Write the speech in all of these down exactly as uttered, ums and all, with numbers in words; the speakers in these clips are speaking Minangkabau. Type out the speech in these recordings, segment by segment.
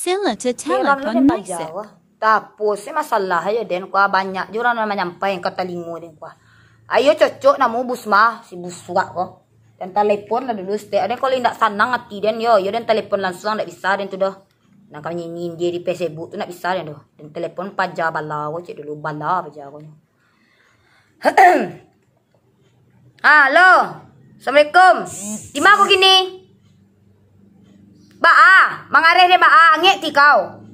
Dilla to Heran lah den paja ko. Tapo se masalah ayo den kua, banyak jo urang nan manyampai ka talingo den kua. Ayo cocok namo Busma, si busuak ko. Den talepon lah dulu stek. Den kalau indak sanang ati den yo, yo den talepon lansuang ndak bisa den tu doh. Nan ka nyinyi-nyinyi di Facebook tu ndak bisa den doh. Den talepon paja bala ko cek dulu, bala paja ko nyo. Halo. Assalamualaikum. Di ma ko kini? Baa, mangareh den baa, angek ti kau.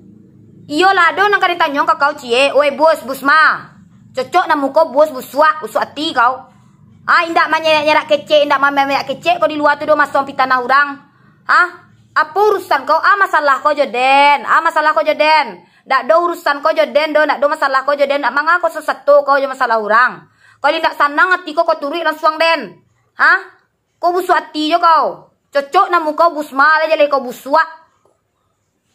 Iyolah, ado nan ka ditanyo ka kau ciek, oi bos, Busma. Cocok namo ko bos, busuak, busuak ati kau. Ah, indak manyerak-nyerak kecek, indak mamerak kecek kau di lua tu doh, masuang pitanah urang. Hah? Apo urusan kau? Ah, masalah kau jo den. Ah, masalah kau jo den. Ndak do urusan kau jo den do, ndak do masalah kau jo den, ndak manga kau sasato kau jo masalah urang. Kalau indak sanang ati kau, kau turuik lansuang den. Hah? Kau busuak ati jo kau. Cocok namo kau Busma lah, jaleh kau busuak.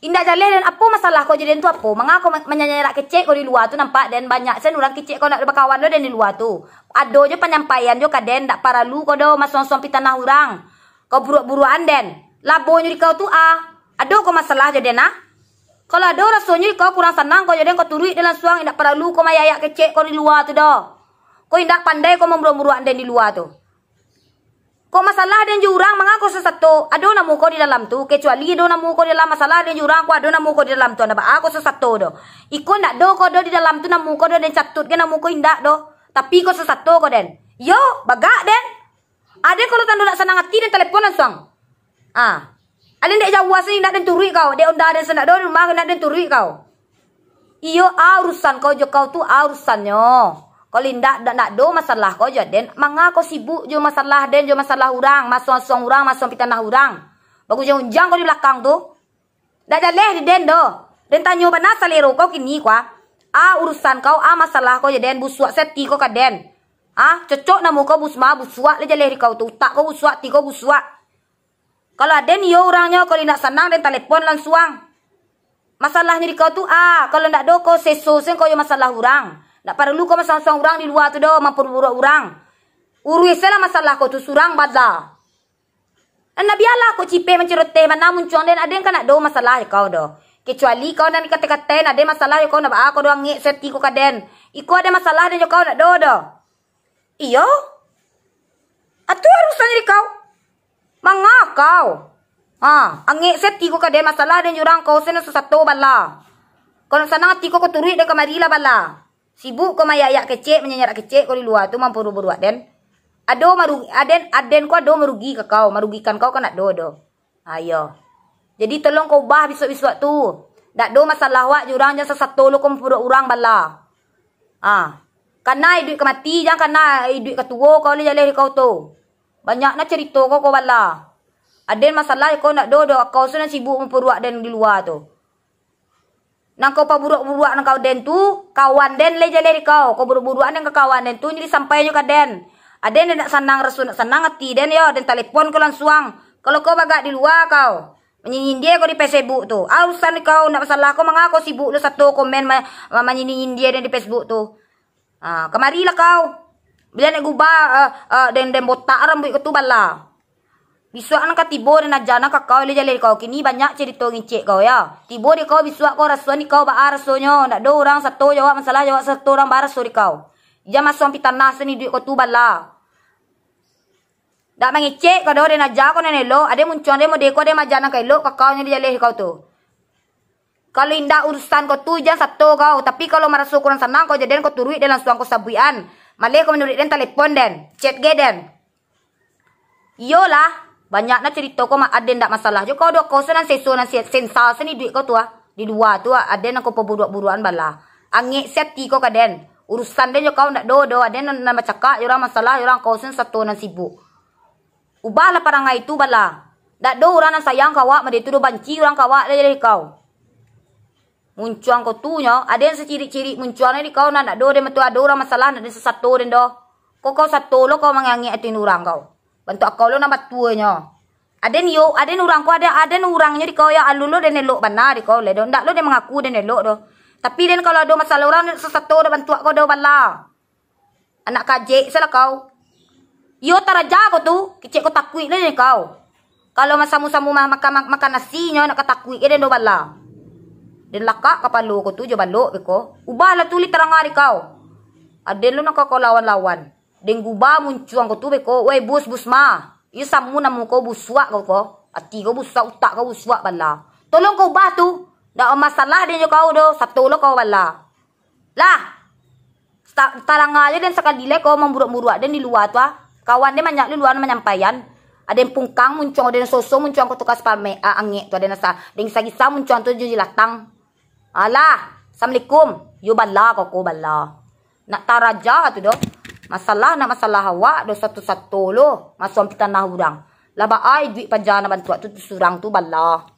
Indak jaleh den, apo masalah kau jo den tu apo? Manga kau ma-, manyanyerak kecek kau di lua tu, nampak den banyak sen urang kecek kau ndak bakawan do den di lua tu. Ado jo panyampaian jo ka den, ndak paralu kau do masuang-suang pitanah urang. Kau buruak-buruakan den. Labonyo di kau tu ah. Ado kau masalah jo den ah? Kalau ado rasonyo di kau kurang sanang kau jo den, kau turuik den lansuang, indak paralu kau mayayak kecek kau di lua tu doh. Kau indak pandai kau mamburuak-buruakan den di lua tu. Kok masalah den jo urang, manga kau sasato? Ado namo kau di dalam tu, kecuali ado namo kau di dalam, masalah den jo urang, kok ado namo kau di dalam tu, ndak baa kau sasato doh. Iko ndak do kau do di dalam tu namo kau do, den catut ge namo kau indak doh. Tapi kau sasato kau den. Yo, bagak den. Aden kalau tando ndak sanang ati den talepon lansuang. Ah. Aden dek jauah sini ndak den turuik kau, dek onda den sandak do di rumah ndak den turuik kau. Iyo, ah, urusan kau jo kau tu, ah, urusannyo. Kalau indak, ndak, ndak do masalah kau jo den, manga kau sibuk jo masalah den, jo masalah urang, masuang-suang urang, masuang pitanah urang. Bagunjiang-gunjiang kau di balakang tu. Ndak jaleh di den do. Den tanyo bana salero kau kini kua. Ah, urusan kau, ah, masalah kau jo den, busuak se ati kau ka den. Ah, cocok namo kau Busma, busuak lah jaleh di kau tu. Utak kau busuak, ati kau busuak. Kalau aden iyo urangnyo, kalau indak sanang den talepon lansuang. Masalahnyo di kau tu, ah, kalau ndak do kau seso sen kau jo masalah urang. Ndak paralu kau masuang-suang urang di lua tu do, mampuruak-uruak urang. Uruih se lah masalah kau tu surang bala. Nah, bialah kau cipeh mancuroteh, mana muncuang den, aden kan ndak do masalah jo kau do. Kecuali kau nan dikate-katen, aden masalah jo kau, ndak baa kau do angek se ati kau ka den. Iko aden masalah den jo kau ndak do do. Iyo. Atu urusan di kau. Manga kau. Ha, angek se ati kau ka den, masalah den jo urang kau se nan sasato bala. Kau nak sanang ati kau, kau turuik den kamari lah bala. Sibuk kau mayayak kecek, manyanyarak kecek kau di lua tu, mampuruak-buruak den. Ado marugi, aden, aden ko ado marugi ka kau, marugikan kau kan ndak do do. Ayo. Jadi tolong kau ubah bisuak-bisuak tu. Ndak do masalah wak jo urang, jan sasato lo kau mampuruak urang bala. Ah. Kana iduik ka mati, jan kana iduik ka tuo kau lai jaleh di kau tu. Banyak na carito kau, kau bala. Aden masalah kau ndak do do, kau se nan sibuk mampuruak den di lua tu. Nan kau paburuak-buruak nan kau den tu, kawan den lai jaleh di kau. Kau buruak-buruak den ka kawan den tu, jadi sampai nyo ka den. Aden ndak sanang raso, ndak sanang ati den yo, den talepon kau lansuang. Kalau kau bagak di lua kau, manyinyi-nyinyi kau di Facebook tu. Ah, urusan di kau, ndak masalah kau, manga kau sibuk lo sato komen ma-, ma-, manyinyi-nyinyi den di Facebook tu. Ah, kamarilah kau. Bila nak gubah, ah, ah, den, den botak rambuik kau tu bala. Bisuak nan ka tibo den aja nan ka kau lai jaleh di kau. Kini banyak carito ngicek kau, ya. Tibo di kau bisuak kau, rasuan di kau, baa rasonyo. Ndak do urang sato jawab masalah, jawab sato urang baraso di kau. Jan masuang pitanah sen iduik kau tu bala. Ndak mangecek kau do, den aja kau nan elok. Aden muncuang den mode ko, aden maaja nan ka elok ka kau nyo di jaleh di kau tu. Kalau indak urusan kau tu, jan sato kau. Tapi kalau maraso kurang sanang kau jo den, kau turuik den lansuang kau sabuikan. Maleh kau manuruik den, talepon den, chat ge den. Iyolah, banyak na carito kau, ma-, aden ndak masalah jo kau do. Kau se nan seso, nan se-, sensa sen iduik kau tu ah. Di lua tu ah, aden nan kau paburuak-buruakan bala. Angek se ati kau ka den. Urusan den jo kau ndak do do. Aden nan, nan bacakak jo urang, masalah jo urang, kau sen sato nan sibuk. Ubahlah parangai tu bala. Ndak do urang nan sayang ka awak mode tu do, banci urang ka awak lai jaleh kau. Muncuang kau tu nyo, aden sacirik-cirik muncuang ni di kau, nan ndak do den, mato ado urang masalah, ndak den sasato den do. Kau, kau sato lo kau mangangek ati urang kau. Bantuak kau lo nan batua nyo. Aden yo, aden urang kau, aden, aden urangnyo di kau yo, alun lo den elok bana di kau lai do. Ndak lo den mangaku den elok do. Tapi den kalau ado masalah urang, den sasato do, bantuak kau do bala. Anak kajek salah kau. Iyo taraja kau tu, kecek kau takuik lah den kau. Kalau masamu-samu ma-, makan, ma-, makan nasi nyo, nak ka takuik ge den do bala. Den lakak kapalo ko tu jo balok beko. Ubahlah tu lai tarang ari kau. Aden lo nan ka kau lawan-lawan. Den guba muncuang ko tu beko. Wai bus, bus ma. Iyo samo namo kau busuak kau ko. Ati kau busuak, utak kau busuak bala. Tolong kau ubah tu. Ndak masalah den jo kau do. Sato lo kau bala. Lah. Ta-, tarang aja den sakali lai ko mamburuak-buruak den di lua tu ah. Kawan den banyak di lua nan manyampaian. Aden pungkang muncuang, aden soso muncuang ko tukas pame-, a-, angek tu, aden asa, aden gisa-gisa muncuang tu jo jilatang. Alah, assalamualaikum. Yo bala kau ko bala. Nak taraja tu doh. Masalah nak masalah awak doh sato-sato lo masuak pi tanah urang. Lah baa iduik paja nan bantuak tu, tu surang tu bala.